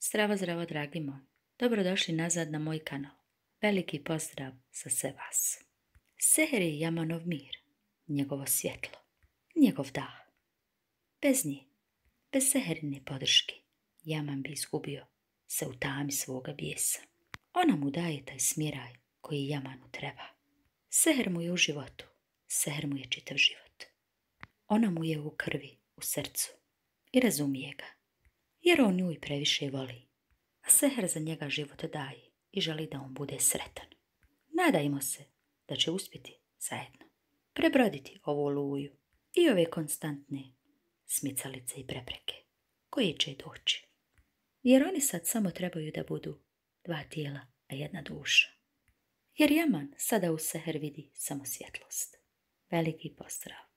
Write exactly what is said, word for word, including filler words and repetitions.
Zdravo, zdravo, dragi moj. Dobrodošli nazad na moj kanal. Veliki pozdrav za sve vas. Seher je Yamanov mir, njegovo svjetlo, njegov dah. Bez nje, bez Seherine podrške, Yaman bi izgubio se u tami svoga bijesa. Ona mu daje taj smiraj koji Yamanu treba. Seher mu je u životu, Seher mu je čitav život. Ona mu je u krvi, u srcu i razumije ga, jer on nju i previše voli. A Seher za njega život daje i želi da on bude sretan. Nadajmo se da će uspjeti zajedno prebroditi ovu oluju i ove konstantne smicalice i prepreke koje će doći. Jer oni sad samo trebaju da budu dva tijela, a jedna duša. Jer Yaman sada u Seher vidi samo svjetlost. Veliki pozdrav.